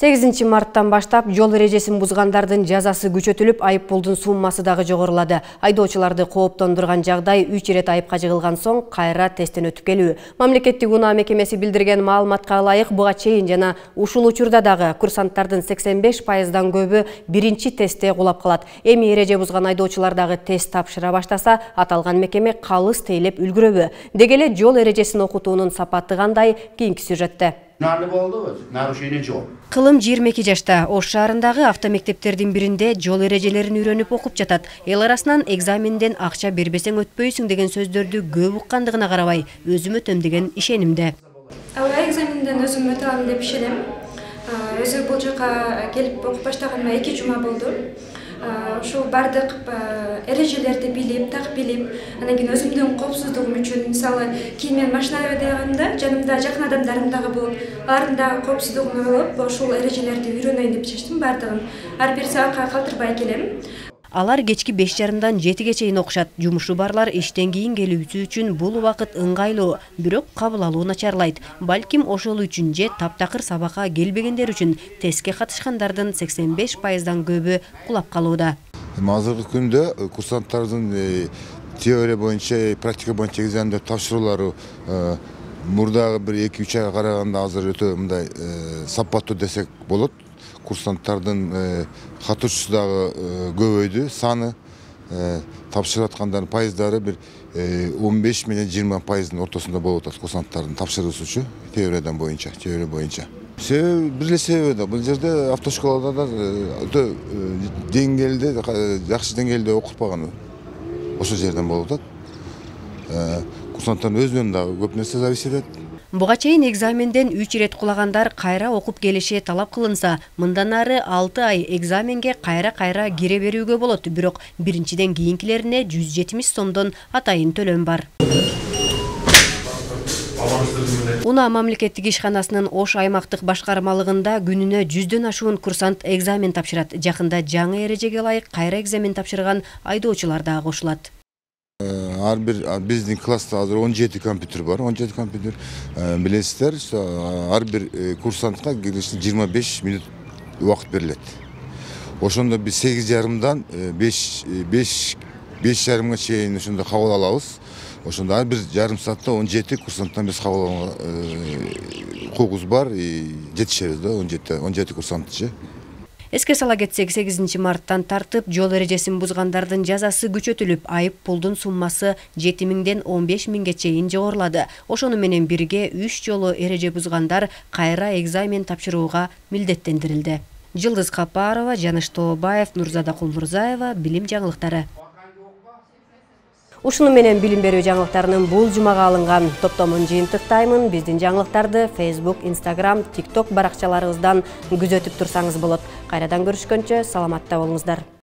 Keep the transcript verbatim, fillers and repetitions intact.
сегизинчи марттан баштап жол эрежесин бузгандардын жазасы күчөтүлүп, айып пулдун суммасы дагы жогорулады. Айдоочуларды кооптондурган жагдай үч ирет айыпка жыгылган соң кайра тесттен өтүп келүү. Мамлекеттик унаа мекемеси билдирген маалыматка ылайык, буга чейин жана ушул учурда дагы курсанттардын сексен беш пайыздан көбү биринчи тестте кулап калат. Эми эреже бузган айдоочулар дагы тест тапшыра баштаса, аталган мекеме калыс тейлеп үлгүрөбү? Деги эле жол эрежесин окутуунун сапаты кандай? Кийинки сюжетте. Нарушение жол. Кылым жыйырма эки жашта Ош шаарындагы автомектептердин биринде жол эрежелерин үйрөнүп окуп жатат. Эл арасынан экзаменден акча бербесең өтпөйсүң деген сөздөрдү көп уккандыгына карабай, өзүм өтөм деген ишенимде. Ала экзаменден өзүм өтө алам деп ишенем. Өзү бул жака келип окуп баштаганыма эки жума болду. Ошол бардык эрежелерди билип, так билип, анан кийин өзүмдүн коопсуздугум үчүн, мисалы, кийин мен машинага айдаганда жанымда жакын адамдарым дагы болуп, алардын дагы коопсуздугун ойлоп, ошол эрежелерди үйрөнөйүн деп чечтим бардыгын. Ар бир сабакка калтырбай келем. Алар кечки беш жарымдан жетиге чейин окушат. Жумушу барлар иштен кийин келүүсү үчүн бул убакыт ыңгайлуу, бирок кабыл алуу начарлайт. Балким ошол үчүн же таптакыр сабакка келбегендер үчүн тестке катышкандардын сексен беш пайыздан көбү кулап калууда. Азыркы күндө курсанттардын теория боюнча, практика боюнча экзамендер тапшыруулары мурдагы бир эки үч айга караганда азыр өтө мындай сапаттуу десек болот. Курсанттардын катышуусу дагы көбөйдү, саны, тапшырып аткандардын пайыздары бир он беш менен жыйырма пайыздын ортосунда болуп атат курсанттардын тапшыруусучу теориядан боюнча, теория боюнча. Себеби бир эле себеби да, бул жерде автошколада да өтө деңгээлде, жакшы деңгээлде окутпаган ошол жерден болуп атат. Курсанттардын өзүнөн дагы көп нерсе зависит этет. Буга чейин экзаменден үч ирет кулагандар кайра окуп келиши талап кылынса, мындан ары алты ай экзаменге кайра-кайра кире берүүгө болот, бирок биринчиден кийинкилерине жүз жетимиш сомдон атайын төлөм бар. Унаа мамлекеттик ишканасынын Ош аймактык башкармалыгында күнүнө жүздөн ашуун курсант экзамен тапшырат. Жакында жаңы эрежеге ылайык кайра экзамен тапшырган айдоочулар дагы кошулат. Ар бир биздин класста азыр он жети компьютер бар, он жети компьютер. Билесиздер, ар бир курсантка жыйырма беш мүнөт убакыт берилет. Ошондо биз сегиз жарымдан беш жарымга чейин ошондо кабыл алабыз. Ошондо ар бир жарым саатта он жети курсанттан биз кабыл алганга укугубуз бар, жетишебиз да он жети курсантчы. Эске сала кетсек, сегизинчи марттан тартып жол эрежесин бузгандардын жазасы күчөтүлүп, айып пулдун суммасы жети миңден он беш миңге чейин жогорулады. Ошону менен бирге үч жолу эреже бузгандар кайра экзамен тапшырууга милдеттендирилди. Жылдыз Капарова, Жаныш Тообаев, Нурзада Кулмурзаева, билим жаңылыктары. Ушуну менен билим берүү жаңылыктарынын бул жумага алынган топтомун жыйынтыктаймын. Биздин жаңылыктарды Facebook, Instagram, TikTok баракчаларыбыздан күзөтүп турсаңыз болот. Кайрадан көрүшкөнчө саламатта болуңуздар.